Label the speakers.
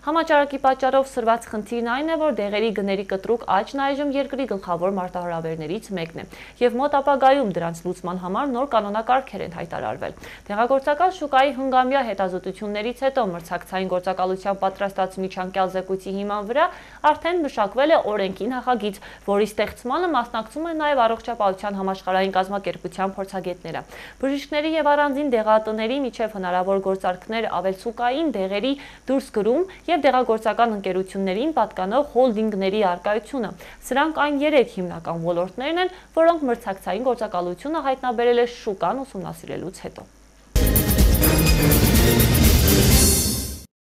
Speaker 1: Համաճարակի պատճառով սրված խնդիրն այն է, որ դեղերի գների կտրուկ աճն այժմ երկրի գլխավոր մարտահրավերներից մեկն է, եւ մոտ ապագայում դրանց լուծման համար նոր կանոնակարգեր են հայտարարվել։ Դեղագործական շուկայի հնգամյա հետազոտություններից հետո մրցակցային գործակալության պատրաստած միջանկյալ զեկույցի հիման վրա արդեն մշակվել է օրենքի նախագիծ, որի ստեղծմանը մասնակցում են նաև Առողջապահության համաշխարհային կազմակերպության փորձագետները։ Բժիշկների եւ առանձին դեղատների միջև հնարավոր գործարքներ ավելցուկային դեղերի դուրսգրում եւ դեղագործական ընկերություններին պատկանող հոլդինգների առկայությունը։ Սրանք այն 3 հիմնական ոլորտներն են, որոնք մրցակցային գործակալությունը հայտնաբերել է շուկան ուսումնասիրելուց հետո։